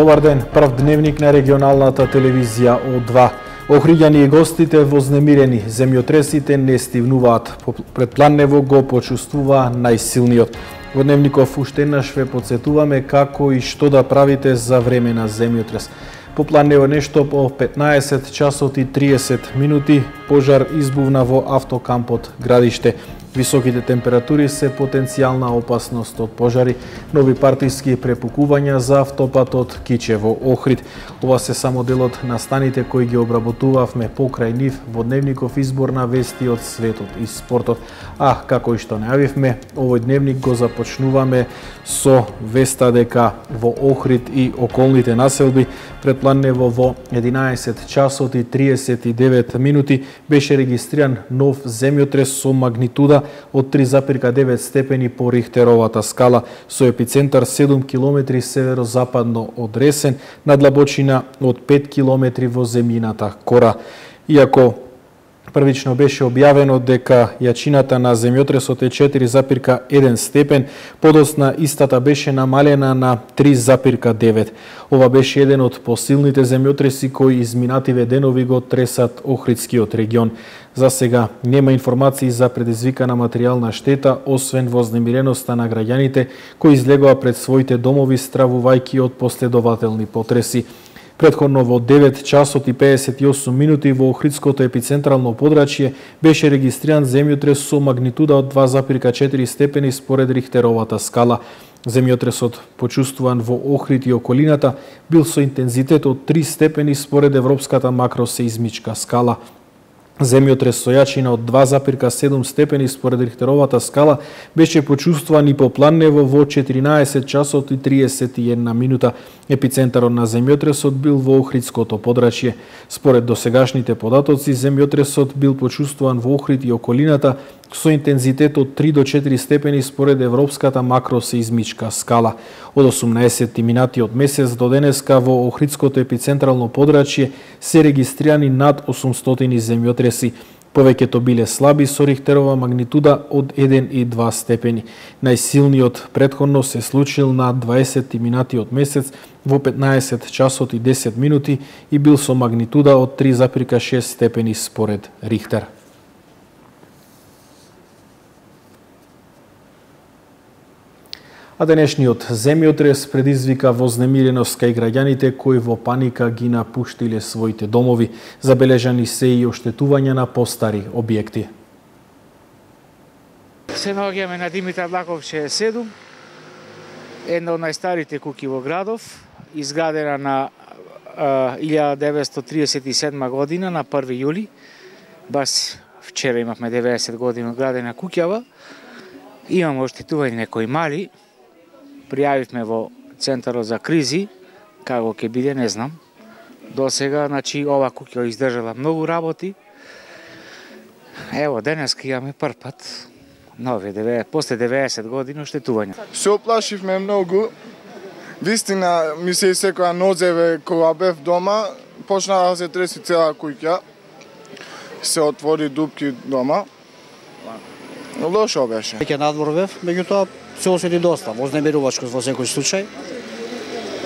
Добар ден, прв дневник на регионалната телевизија О2. Охриѓани и гостите вознемирени, земјотресите не стивнуваат. Пред Планево го почувствува најсилниот. Во дневников уште еднаш ве потсетуваме како и што да правите за време на земјотрес. По Планево нешто по 15 часот и 30 минути пожар избувна во автокампот Градиште. Високите температури се потенцијална опасност од пожари, нови партиски препукувања за автопатот Кичево-Охрид. Ова се само делот на станите кои ги обработувавме покрај нив во дневников избор на вести од светот и спортот. А, како и што најавивме, овој дневник го започнуваме со веста дека во Охрид и околните населби пред Планево во 11 часот и 39 минути беше регистриран нов земјотрес со магнитуда од 3,9 степени по Рихтеровата скала, со епицентар 7 км северозападно од Ресен, на длабочина од 5 км во земјината Кора. Иако првично беше објавено дека јачината на земјотресот е 4,1 степен, подоцна истата беше намалена на 3,9. Ова беше еден од посилните земјотреси кои изминативе денови го тресат Охридскиот регион. За сега нема информации за предизвикана материјална штета, освен вознемиреноста на граѓаните кои излегоа пред своите домови стравувајќи од последователни потреси. Претходно во 9 часот и 58 минути во Охридското епицентрално подрачје беше регистриран земјотрес со магнитуда од 2,4 степени според Рихтеровата скала. Земјотресот, почувствуван во Охрид и околината, бил со интензитет од 3 степени според Европската макросеизмичка скала. Земјотрес со јачина од 2,7 степени според Рихтеровата скала беше почувствуван и по Планево во 14 часот и 31 минута. Епицентарот на земјотресот бил во Охридското подрачје. Според досегашните податоци, земјотресот бил почувствуван во Охрид и околината со интензитет од 3 до 4 степени според Европската макросеизмичка скала. Од 18 минати од месец до денеска во Охридското епицентрално подрачје се регистрирани над 800 земјотреси. Повеќето биле слаби со Рихтерова магнитуда од 1 и 2 степени. Најсилниот претходно се случил на 20 минати од месец во 15 часот и 10 минути и бил со магнитуда од 3,6 степени според Рихтер. А денешниот земјотрес предизвика вознемиреност кај граѓаните кои во паника ги напуштиле своите домови. Забележани се и оштетувања на постари објекти. Се наоѓаме на Димитар Лаков 67, една од најстарите куќи во градов, изградена на 1937 година на 1 јули. Бас вчера имавме 90 години градена куќава. Имаме оштетување некои мали. Пријавивме во Центарот за кризи, како ќе биде, не знам. До сега, значи, ова куќа издржала многу работи. Ево, денеска имаме прв пат, после 90 години, оштетување. Се оплашивме многу. Вистина, ми се исекоја нозеве кога бев дома, почна да се треси цела куќа. Се отвори дупки дома. Лошо беше. Веќе надвор бев, меѓутоа се осети доста вознемирувачко во секој случај.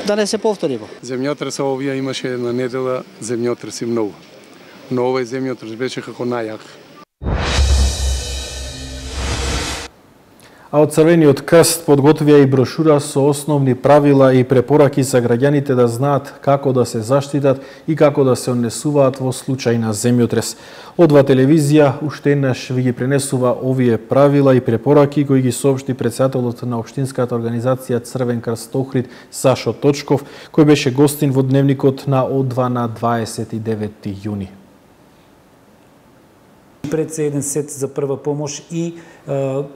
Да не се повтори. Земјотрес овие имаше една недела земјотреси многу. Но овој земјотрес беше како најак. А од Црвениот крст подготвија и брошура со основни правила и препораки за граѓаните да знаат како да се заштитат и како да се однесуваат во случај на земјотрес. О2 телевизија уште еднаш ви ги пренесува овие правила и препораки кои ги соопшти претседателот на општинската организација Црвен крст Охрид Сашо Точков, кој беше гостин во дневникот на О2 на 29 јуни. Пред се еден сет за прва помош и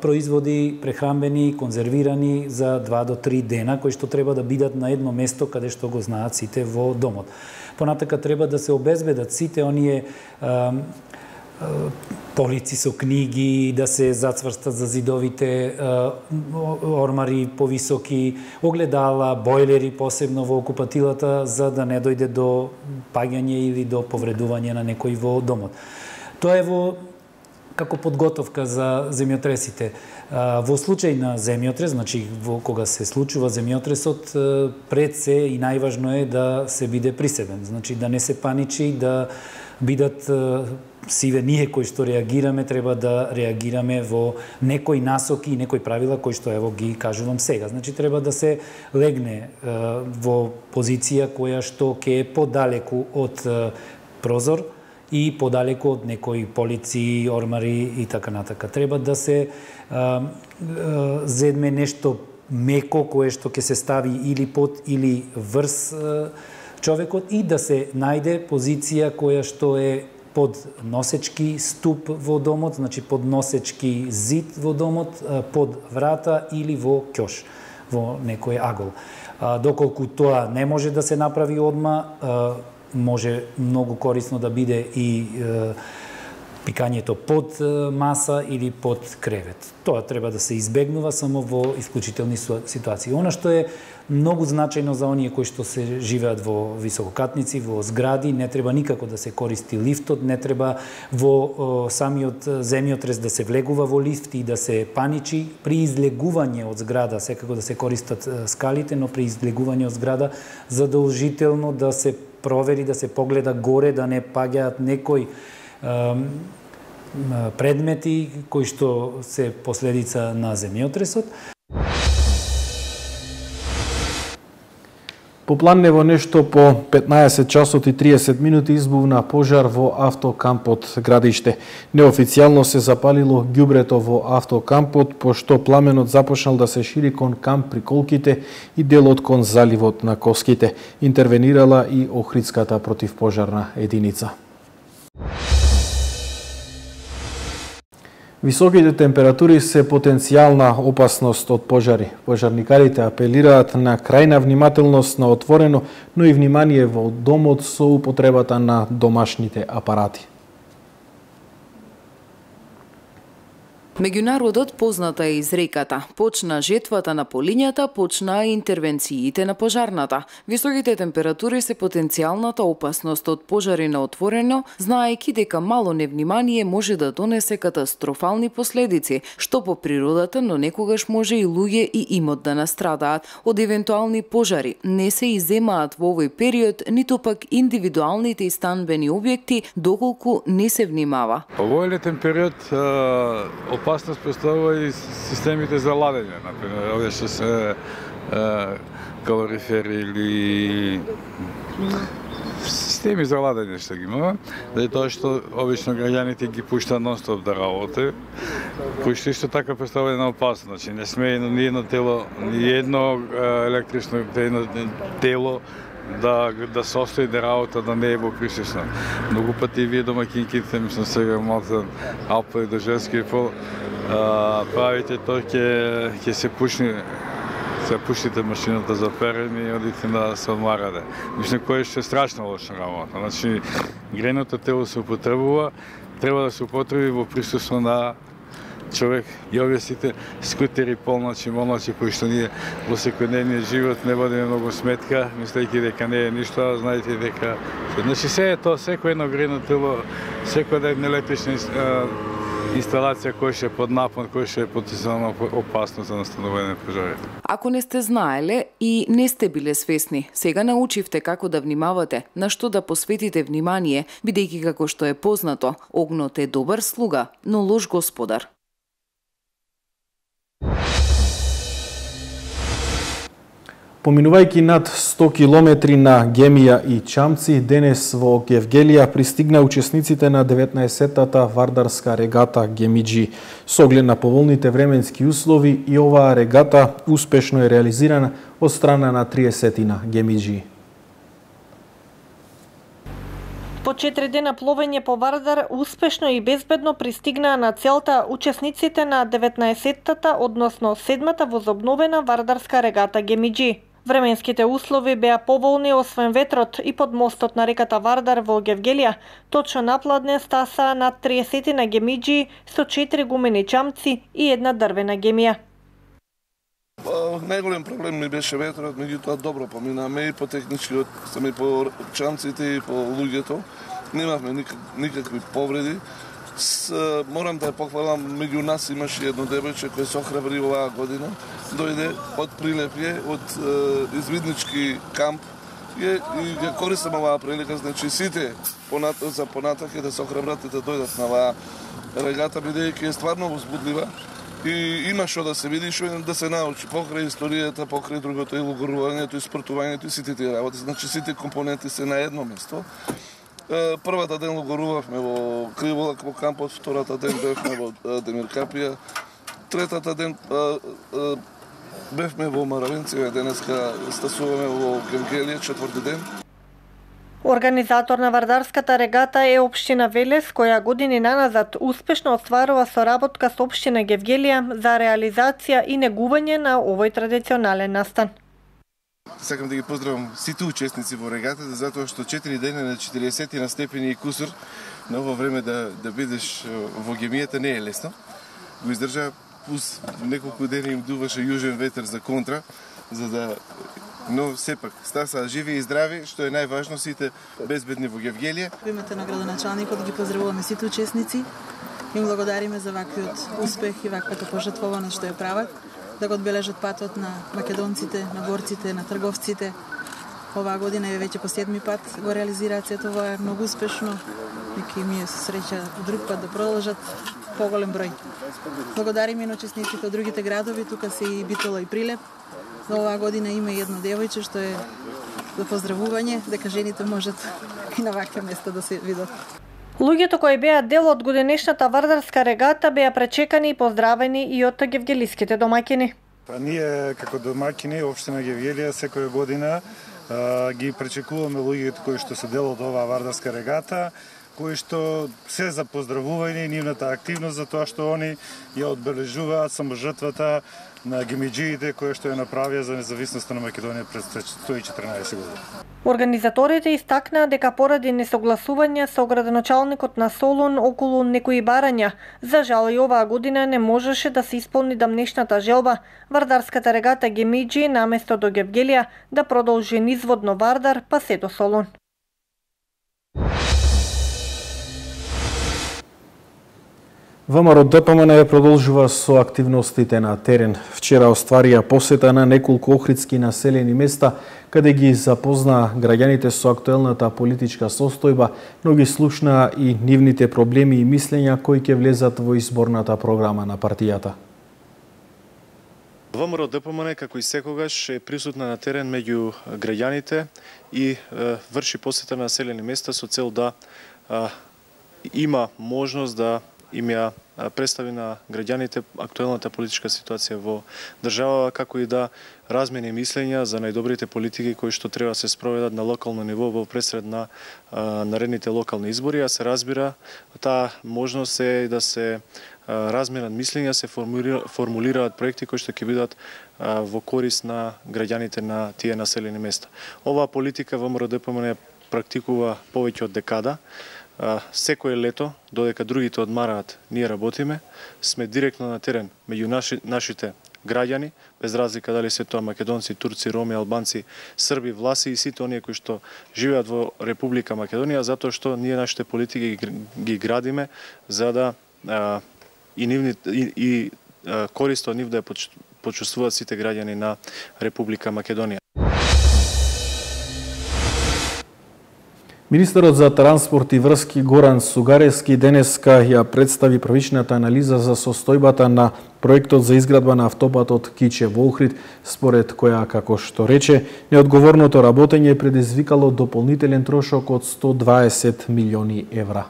производи прехранбени, конзервирани за 2 до 3 дена, кои што треба да бидат на едно место каде што го знаат сите во домот. Понатака треба да се обезбедат сите оние полици со книги, да се зацврстат за зидовите ормари повисоки, огледала, бойлери посебно во окупатилата, за да не дојде до паѓање или до повредување на некој во домот. Тоа е во како подготовка за земјотресите. Во случај на земјотрес, значи кога се случува земјотресот, пред се и најважно е да се биде присебен, значи да не се паничи, да бидат сиве ние кои што реагираме, треба да реагираме во некои насоки и некои правила кои што ево ги кажувам сега. Значи треба да се легне во позиција која што ќе е подалеку од прозор и подалеку од некои полици, ормари и така натака. Треба да се зедме нешто меко кое што ќе се стави или под или врз човекот и да се најде позиција која што е под носечки ступ во домот, значи под носечки зид во домот, под врата или во ќош, во некој агол. Доколку тоа не може да се направи одма, може многу корисно да биде и пикањето под маса или под кревет. Тоа треба да се избегнува само во исклучителни ситуации. Она што е многу значајно за оние кои што се живеат во висококатници, во згради, не треба никако да се користи лифтот, не треба во самиот земјотрес да се влегува во лифт и да се паничи. При излегување од зграда секако да се користат скалите, но при излегување од зграда задолжително да се провери, да се погледа горе, да не паѓаат некои предмети кои што се последица на земјотресот. По Планнево нешто по 15 часот и 30 минути избувна пожар во автокампот Градиште. Неофицијално се запалило ѓубрето во автокампот, пошто пламенот започнал да се шири кон камп Приколките и делот кон заливот на Коските. Интервенирала и Охридската противпожарна единица. Високите температури се потенцијална опасност од пожари. Пожарникарите апелираат на крајна внимателност на отворено, но и внимание во домот со употребата на домашните апарати. Меѓу народот позната е изреката: почна жетвата на полињата, почна интервенциите на пожарната. Високите температури се потенцијалната опасност од пожари на отворено, знаејќи дека мало невнимание може да донесе катастрофални последици, што по природата, но некогаш може и луѓе и имот да настрадаат од евентуални пожари. Не се изземаат во овој период ниту пак индивидуалните и станбени објекти, доколку не се внимава. Во летен период опасност представува и системите за ладење, например, овие што се калорифери или системи за ладење што ги имаме, заради тоа што обично граѓаните ги пуштаат нон-стоп да работи, кои што исто така представува една опасност. Значи не сме ни едно тело, ни едно електрично тело да состои да работа, да не е во присуство. Многу пати вие домакинките, мислам сега малку Алпа и до женски пол, правите тоа ќе се пуштите машината за перење и одите да се одмарате. Мислам кој што е страшно лоша работа. Значи грејното тело се употребува, треба да се употреби во присуство на човек и овие сите скутери полночи, молночи кои што ние во секојдневниот живот не водиме многу сметка, мислејќи дека не е ништо, знаете дека значи се е тоа, секој едно грејно тело, секоја една електрична инсталација која што е под напон, која што е потенцијална опасност за настанување на пожари. Ако не сте знаеле и не сте биле свесни, сега научивте како да внимавате, на што да посветите внимание, бидејќи како што е познато, огнот е добар слуга, но лош господар. Поминувајќи над 100 километри на Гемија и Чамци, денес во Гевгелија пристигна учесниците на 19-тата вардарска регата Гемиџи. Со оглед на поволните временски услови и оваа регата успешно е реализирана од страна на 30-тина Гемиџи. По 4 дена пловење по Вардар успешно и безбедно пристигнаа на целта учесниците на 19-тата, односно 7-та возобновена вардарска регата Гемиџи. Временските услови беа поволни освен ветрот и под мостот на реката Вардар во Гевгелија, точно напладне стаса над 30 на Гемиџи со 4 гумени чамци и една дрвена гемија. Најголем проблем ми беше ветрот, меѓутоа добро поминаме и по техничкиот, и по чамците и по луѓето. Немавме никакви повреди. Морам да ја похвалам, меѓу нас имаше едно девојче кој се охрабри оваа година. Дојде од Прилепје, од извиднички камп и ја користам оваа прилика, значи сите за понатак е да се охрабрат и да дојдат на оваа регата, бидејќи е стварно возбудлива и има што да се види, што да се научи покрај историјата, покрај другото и логорувањето и спортувањето и сите тие работи. Значи сите компоненти се на едно место. Првата ден логорувавме во Криволак во кампот, втората ден бевме во Демиркапија, третата ден бевме во Маравенција, денеска стасуваме во Гевгелија, четврти ден. Организатор на вардарската регата е општина Велес, која години наназад успешно остварува соработка со општина Гевгелија за реализација и негување на овој традиционален настан. Сакам да ги поздравам сите учесници во регатата, затоа што 4 дена на 40 на степени и кусур на ово време да бидеш во гемијата не е лесно. Го издржа, плюс неколку дена им дуваше јужен ветер за контра, но сепак стаса живи и здрави, што е најважно, сите безбедни во Гевгелија. Во името на градоначалникот ги поздравуваме сите учесници. Им благодариме за ваквиот успех и ваквата пожртвованост што ја прават, да го одбележат патот на македонците, на борците, на трговците. Оваа година е веќе по 7-ми пат го реализираат сето ова многу успешно. Нека им е среќа друг пат да продолжат поголем број. Благодариме на учесниците од другите градови, тука се и Битола и Прилеп. Оваа година има и едно девојче што е за поздравување, дека жените можат и на ваква места да се видат. Луѓето кои беа дел од годинешната вардарска регата беа пречекани и поздравени и од гевгелиските домаќини. Ние како домаќини општина Гевгелија секоја година ги пречекуваме луѓето кои што се дел од оваа вардарска регата, кои што се за поздравување и нивната активност за тоа што они ја одбележуваат саможртвата на гемиџиите кои што ја направија за независноста на Македонија пред 114 години. Организаторите истакнаа дека поради несогласување со градоначалникот на Солун околу некои барања, за жал и оваа година не можеше да се исполни дамнешната желба вардарската регата гемиџи наместо до Гевгелија да продолжи низводно Вардар па се до Солун. ВМРО ДПМН продолжува со активностите на терен. Вчера остварија посета на неколку охридски населени места, каде ги запознаа граѓаните со актуелната политичка состојба, но ги слушнаа и нивните проблеми и мислења кои ќе влезат во изборната програма на партијата. ВМРО ДПМН како и секогаш е присутна на терен меѓу граѓаните и врши посета на населени места со цел да има можност да им ја представи на граѓаните актуелната политичка ситуација во државава, како и да размени мислења за најдобрите политики кои што треба се спроведат на локално ниво во пресред на наредните локални избори, а се разбира таа можност е да се разменат мислења, се формулираат проекти кои што ќе бидат во корист на граѓаните на тие населени места. Оваа политика ВМРО ДПМН практикува повеќе од декада. Секое лето, додека другите одмараат, ние работиме, сме директно на терен меѓу нашите граѓани, без разлика дали се тоа македонци, турци, роми, албанци, срби, власи и сите оние кои што живеат во Република Македонија, затоа што ние нашите политики ги градиме за да корист од нив да ја почувствуваат сите граѓани на Република Македонија. Министерот за транспорт и врски Горан Сугарески денеска ја представи првичната анализа за состојбата на проектот за изградба на автопатот Кичево Охрид, според која, како што рече, неодговорното работење предизвикало дополнителен трошок од 120 милиони евра.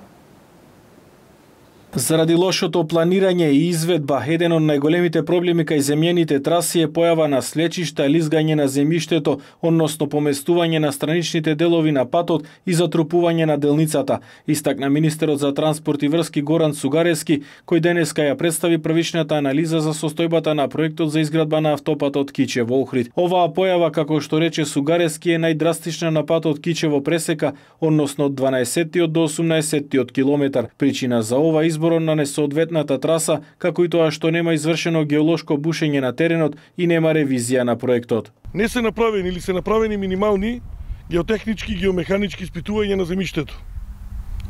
Заради лошото планирање и изведба, еден од најголемите проблеми кај земјените траси е појава на слечишта, лизгање на земјиштето, односно поместување на страничните делови на патот и затрупување на делницата, истакна министерот за транспорт и врски Горан Сугарески, кој денеска ја представи првичната анализа за состојбата на проектот за изградба на автопатот Кичево Охрид. Оваа појава, како што рече Сугарески, е најдрастична на патот Кичево Пресека, односно од 12 до 18 километар. Причина за ова изборот на несоодветната траса, како и тоа што нема извршено геолошко бушење на теренот и нема ревизија на проектот. Не се направени или се направени минимални геотехнички и геомеханички испитувања на земјиштето.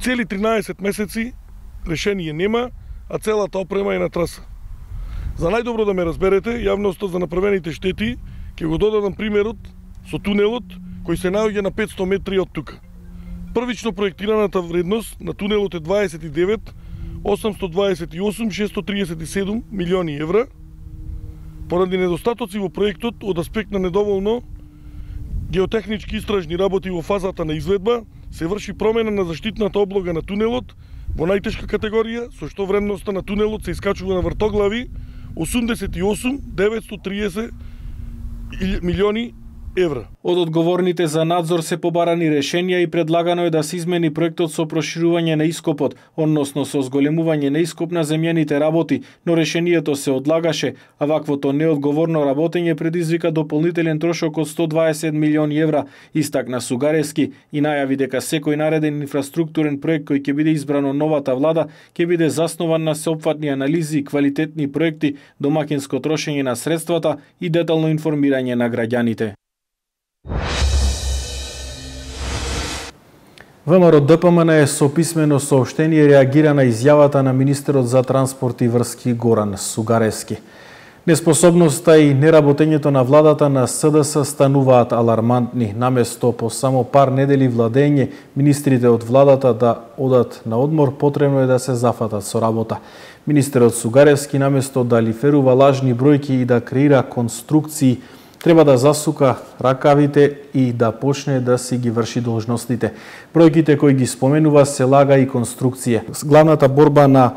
Цели 13 месеци решение нема, а целата опрема е на траса. За најдобро да ме разберете, јавноста за направените штети, ќе го додадам примерот со тунелот кој се наоѓа на 500 метри од тука. Првично проектираната вредност на тунелот е 29 828 637 милиони евра. Поради недостатоци во проектот од аспект на недоволно геотехнички истражни работи во фазата на изведба, се врши промена на заштитната облога на тунелот во најтешка категорија, со што вредноста на тунелот се искачува на вртоглави 88 930 милиони евра. Од одговорните за надзор се побарани решенија и предлагано е да се измени проектот со проширување на ископот, односно со зголемување на ископ на земјаните работи, но решението се одлагаше, а ваквото неодговорно работење предизвика дополнителен трошок од 120 милиони евра, истакна Сугарески и најави дека секој нареден инфраструктурен проект кој ќе биде избран од новата влада ќе биде заснован на сеопфатни анализи, квалитетни проекти, домакинско трошење на средствата и детално информирање на граѓаните. ВМРО ДПМН со писмено соопштение реагира на изјавата на министерот за транспорт и врски Горан Сугарески. Неспособноста и неработењето на владата на СДС стануваат алармантни. Наместо по само пар недели владење, министрите од владата да одат на одмор, потребно е да се зафатат со работа. Министерот Сугарески наместо да лиферува лажни бројки и да креира конструкции, треба да засука ракавите и да почне да си ги врши должностите. Бројките кои ги споменува се лага и конструкција. Главната борба на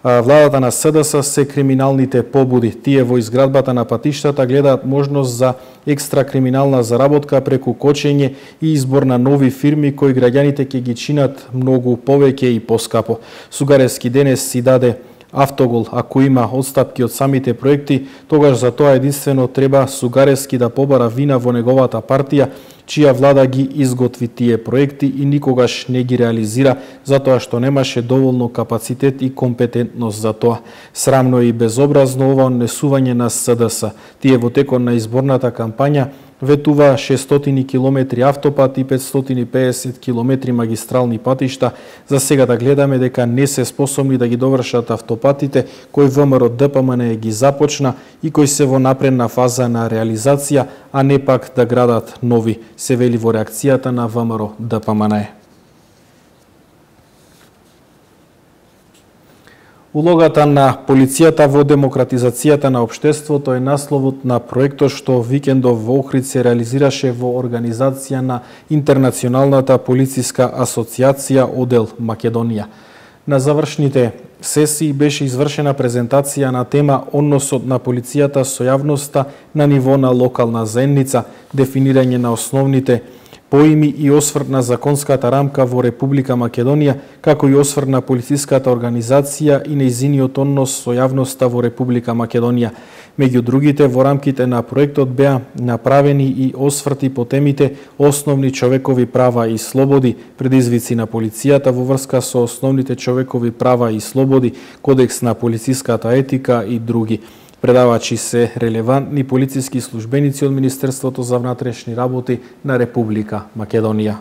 владата на СДС се криминалните побуди. Тие во изградбата на патиштата гледаат можност за екстра криминална заработка преку кочење и избор на нови фирми кои граѓаните ќе ги чинат многу повеќе и поскапо. Сугарески денес си даде автогол. Ако има отстапки од самите проекти, тогаш за тоа единствено треба Сугарески да побара вина во неговата партија, чија влада ги изготви тие проекти и никогаш не ги реализира, затоа што немаше доволно капацитет и компетентност за тоа. Срамно и безобразно ова однесување на СДС. Тие во текот на изборната кампања ветува 600 километри автопат и 550 километри магистрални патишта. За сега да гледаме дека не се способни да ги довршат автопатите кои ВМРО ДПМН ги започна и кои се во напредна фаза на реализација, а не пак да градат нови, се вели во реакцијата на ВМРО ДПМН. Улогата на полицијата во демократизацијата на општеството е насловот на проектот што викендов во Охрид се реализираше во организација на Интернационалната полициска асоциација одел Македонија. На завршните сесии беше извршена презентација на тема односот на полицијата со јавноста на ниво на локална заедница, дефинирање на основните поими и осврт на законската рамка во Република Македонија, како и осврт на полициската организација и нејзиниот однос со јавноста во Република Македонија. Меѓу другите, во рамките на проектот беа направени и осврти по темите основни човекови права и слободи, предизвици на полицијата во врска со основните човекови права и слободи, кодекс на полициската етика и други. Предавачи се релевантни полициски службеници од Министерството за внатрешни работи на Република Македонија.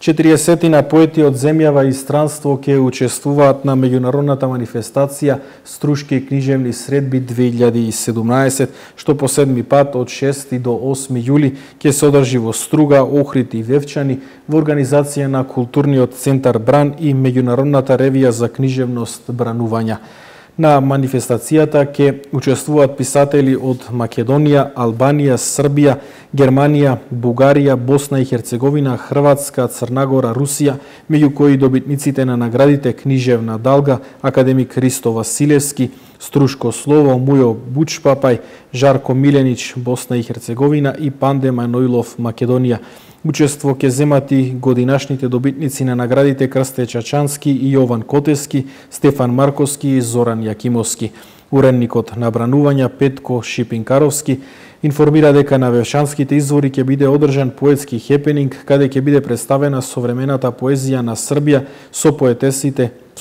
40 поети од земјава и странство ќе учествуваат на меѓународната манифестација Струшки книжевни средби 2017, што по седми пат од 6 до 8 јули ќе се одржи во Струга, Охрид и Вевчани во организација на Културниот центар Бран и Меѓународната ревија за книжевност Бранувања. На манифестацијата ќе учествуваат писатели од Македонија, Албанија, Србија, Германија, Бугарија, Босна и Херцеговина, Хрватска, Црнагора, Русија, меѓу кои добитниците на наградите Книжевна Далга, академик Христо Василевски, Струшко Слово, Мујо Бучпапај, Жарко Миленич, Босна и Херцеговина и Панде Маноилов, Македонија. Учество ќе земат и годинашните добитници на наградите Крсте Чачански и Јован Котески, Стефан Марковски и Зоран Јакимовски. Уредникот на Бранувања Петко Шипинкаровски информира дека на Вевшанските извори ќе биде одржан поетски хепенинг, каде ќе биде представена современата поезија на Србија со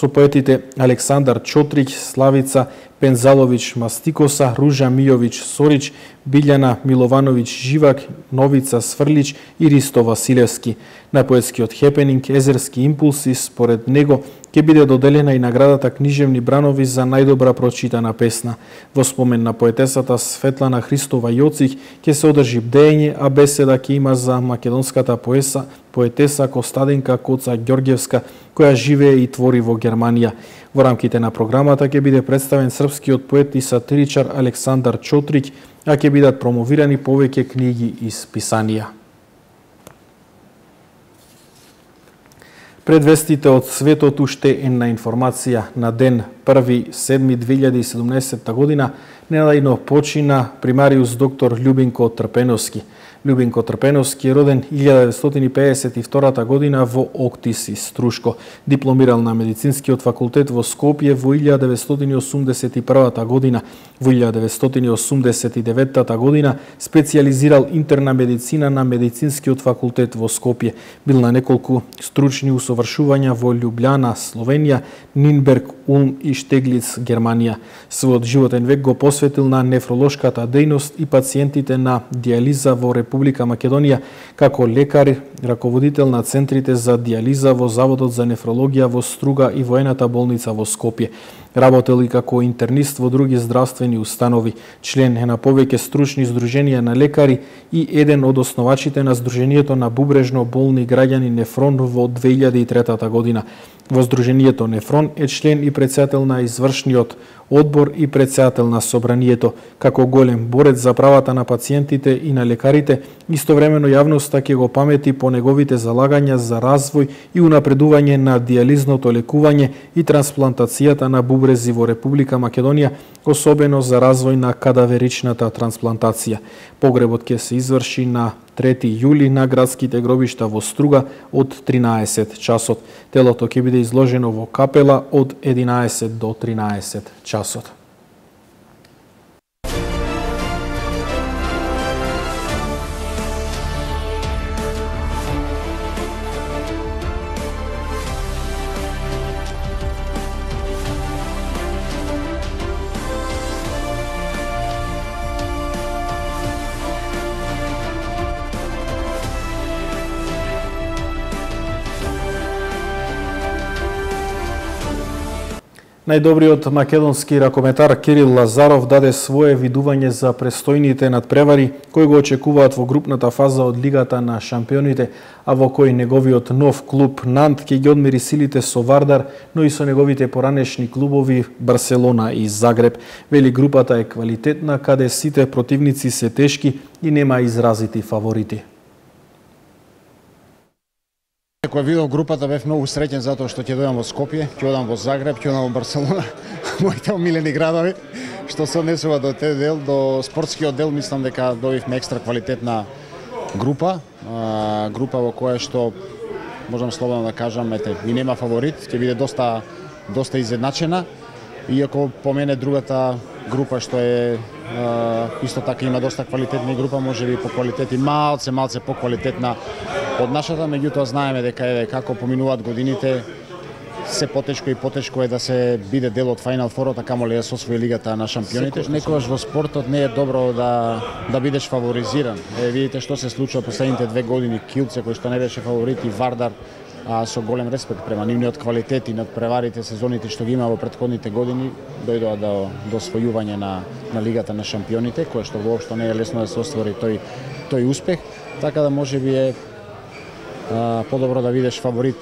поетите Александар Чотрич, Славица Пензалович Мастикоса, Ружа Мијович Сорич, Билјана Милованович Живак, Новица Сврлич и Ристо Василевски. На поетскиот хепенинг Езерски импулси, според него, ќе биде доделена и наградата Книжевни бранови за најдобра прочитана песна. Во спомен на поетесата Светлана Христова Јоцих ќе се одржи бдење, а беседа ќе има за македонската поетеса Костадинка Коца Ѓорѓевска, која живее и твори во Германија. Во рамките на програмата ќе биде представен српскиот поет и сатиричар Александар Чотрик, а ќе бидат промовирани повеќе книги и списанија. Пред вестите од светот уште една информација. На ден 1.7.2017 година ненајно почина примариус доктор Љубинко Трпеновски. Љубинко Трпеновски е роден 1952 година во Октис и Струшко. Дипломирал на медицинскиот факултет во Скопје во 1981 година. Во 1989 година специјализирал интерна медицина на медицинскиот факултет во Скопје. Бил на неколку стручни усовршувања во Љубљана, Словенија, Нинберг, Улм и Штеглиц, Германија. Својот животен век го посветил на нефролошката дејност и пациентите на дијализа во Република Македонија, како лекар, раководител на центрите за дијализа во Заводот за нефрологија во Струга и воената болница во Скопје. Работел и како интернист во други здравствени установи. Член е на повеќе стручни здруженија на лекари и еден од основачите на Сдруженијето на бубрежно болни граѓани Нефрон во 2003 година. Во Сдруженијето Нефрон е член и председател на извршниот одбор и председател на собранието. Како голем борец за правата на пациентите и на лекарите, истовремено јавноста ќе го памети по неговите залагања за развој и унапредување на дијализното лекување и трансплантацијата на бубрези во Република Македонија, особено за развој на кадаверичната трансплантација. Погребот ќе се изврши на 3 јули на градските гробишта во Струга од 13 часот. Телото ќе биде изложено во капела од 11 до 13 часот. Најдобриот македонски ракометар Кирил Лазаров даде свое видување за престојните надпревари кои го очекуваат во групната фаза од Лигата на шампионите, а во кој неговиот нов клуб Нант ќе ги одмери силите со Вардар, но и со неговите поранешни клубови Барселона и Загреб. Вели групата е квалитетна, каде сите противници се тешки и нема изразити фаворити. Кога видов групата бев многу среќен затоа што ќе дојдам во Скопје, ќе одам во Загреб, ќе одам во Барселона, моите омилени градови, што се однесува до тој дел, до спортскиот дел, мислам дека добивме екстра квалитетна група, група во која што можам слободно да кажам, и нема фаворит, ќе биде доста изедначена, иако по мене другата група што е исто така има доста квалитетна група, можеби по квалитет и малце поквалитетна од нашата, меѓутоа знаеме дека како поминуваат годините, се потешко и потешко е да се биде дел од Final Four, така камо ли да се освои Лигата на шампионите. Некогаш во спортот не е добро да бидеш фаворизиран. Видите што се случува последните 2 години, Килце кој што не беше фаворит и Вардар, со голем респект према нивниот квалитет и надпреварите, сезоните што ги има во претходните години, дојдоа до освојување на Лигата на шампионите, кое што воопшто не е лесно да се оствори тој успех, така да можеби е подобро да видиш фаворит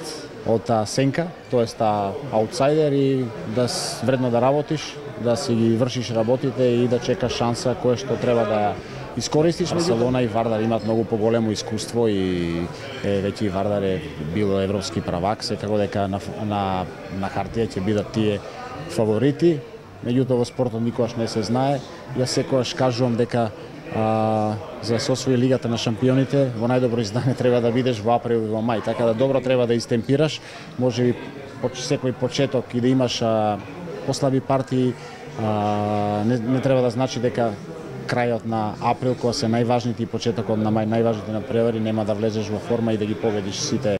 од сенка, тоест аутсайдер, и да вредно да работиш, да си ги вршиш работите и да чекаш шанса која што треба да искористиш. Барселона и Вардар имаат многу поголемо искуство и веќе Вардар е бил европски правак, секако дека на хартија ќе бидат тие фаворити, меѓутоа во спортот никогаш не се знае. Јас секогаш кажувам дека за да се освои Лигата на шампионите, во најдобро издание треба да бидеш во април и во мај, така да добро треба да истемпираш, можеби секој почеток и да имаш послаби партии, не треба да значи дека крајот на април, кога се најважните, и почетокот на мај најважните надпревари, нема да влезеш во форма и да ги победиш сите.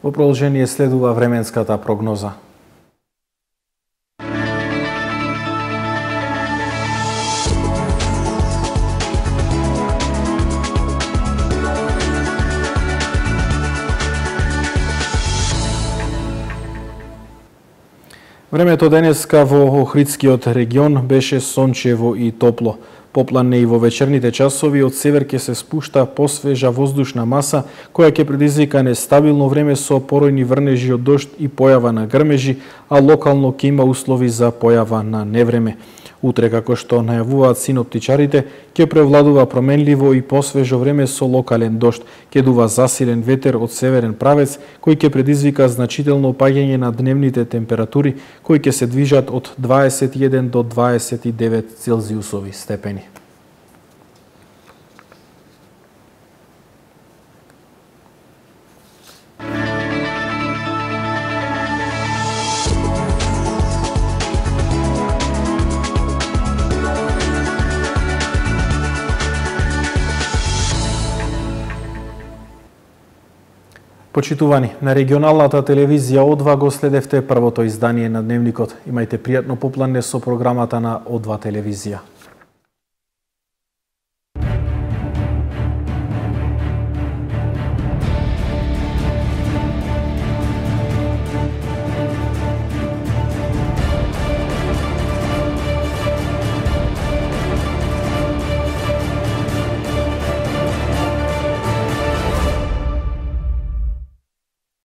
По продолжение следува временската прогноза. Времето денеска во Охридскиот регион беше сончево и топло. Поплане и во вечерните часови од север ќе се спушта посвежа воздушна маса која ќе предизвика нестабилно време со поројни врнежи од дожд и појава на грмежи, а локално ќе има услови за појава на невреме. Утре, како што најавуваат синоптичарите, ќе превладува променливо и посвежо време со локален дожд. Ќе дува засилен ветер од северен правец, кој ќе предизвика значително паѓање на дневните температури, кои ќе се движат од 21 до 29 целзиусови степени. Почитувани, на регионалната телевизија О2 го следевте првото издание на Дневникот. Имајте пријатно поплане со програмата на О2 телевизија.